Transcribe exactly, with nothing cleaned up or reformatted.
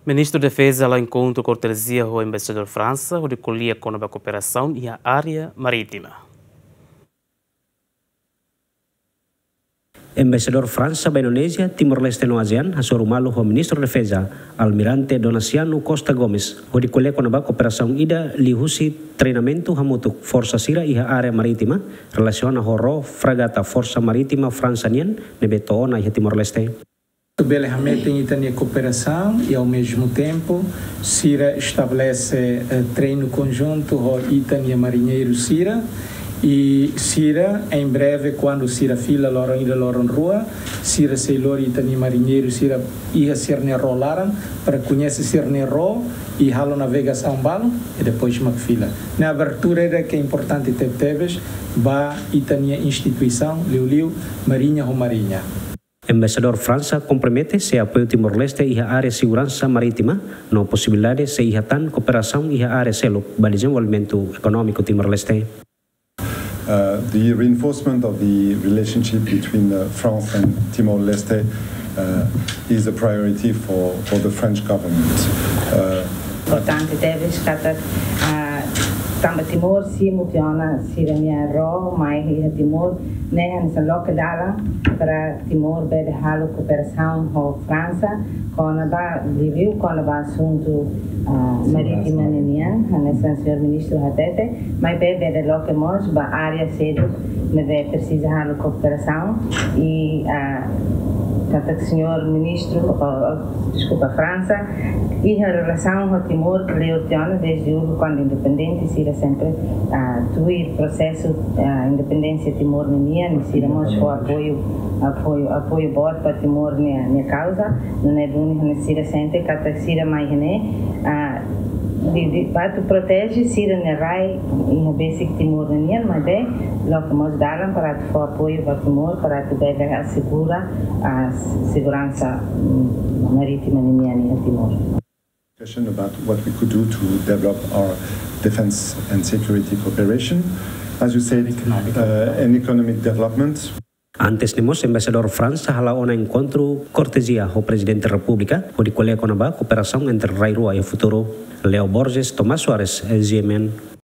Ministru Defeza hala'o enkontru kortezia ho Embaixadór Fransa hodi ko'alia kona-ba kooperasaun iha área marítima. Embaixadór Fransa ba Indonézia, Timor-Leste no ASEAN hasoru malu ho Ministru Defeza, Almirante Donaciano Costa Gomes, hodi ko'alia kona-ba kooperasaun ida liuhusi treinamentu hamutuk forsa sira iha área marítima, relasiona ho ró fragata Forsa Marítima Fransa nian ne'ebé to'o ona iha Timor-Leste. Atu bele hametin ita-nia kooperasaun i, ao mesmo tempo, sira estabelese, eh, treinu konjuntu ho ita-nia mariñeiru sira, i sira, em breve, kuandu sira fila loron ida loron rua, sira sei lori ita-nia mariñeiru sira iha sira-nia ró laran, para koñese sira-nia ró i halo navegasaun balun, i depois mak fila. Ne'e abertura ida ke importante tebetebes ba ita-nia instituisaun, liuliu mariña ho mariña. Embaixadór Fransa kompromete sei apoiu Timor-Leste iha área seguransa marítima, no posibilidade sei iha tan kooperasaun iha área seluk ba dezenvolvimentu ekonómiku Timor-Leste. Uh, the reinforcement of the relationship between, uh, France and Timor-Leste, uh, is a priority for, for the French government. Uh, Importante tebes katak, ah, tanba Timor simu tiha ona sira-nia ró mai iha Timor, ne'e hanesan loke dalan para Timor bele halo kooperasaun ho Fransa, kona-ba, liuliu kona-ba asuntu, ah, marítima ninian, hanesan señór ministru hatete, maibé bele loke mós ba área seluk ne'ebé presiza halo kooperasaun i, ah, katak señór ministru, oh, oh, deskulpa, Fransa, iha relasaun ho Timor kleur tiha ona desde uluk kuandu independente, sira sempre, ah, tuir prosesu, ah, independénsia Timor ninian, sira mós fó apoiu, apoiu, apoiu boot ba Timor nia, nia kauza, nune'e duni hanesan sira sente katak sira mai iha ne'e, ah, di, di, ba atu proteje sira-nia rai iha besik Timor ninian, maibé loke mós dalan para atu fó apoiu ba Timor para atu bele asegura, ah, seguransa, mm, marítima ninian iha Timor. Question about what we could do to develop our defense and security cooperation. As you said, uh, an economic development. Antes ne'e mós, Embaixadór Fransa hala'o ona enkontru kortezia ho Prezidente Repúblika, hodi ko'alia kona-ba kooperasaun entre rai rua iha futuru. Leo Borges, Tomás Soares, G M N.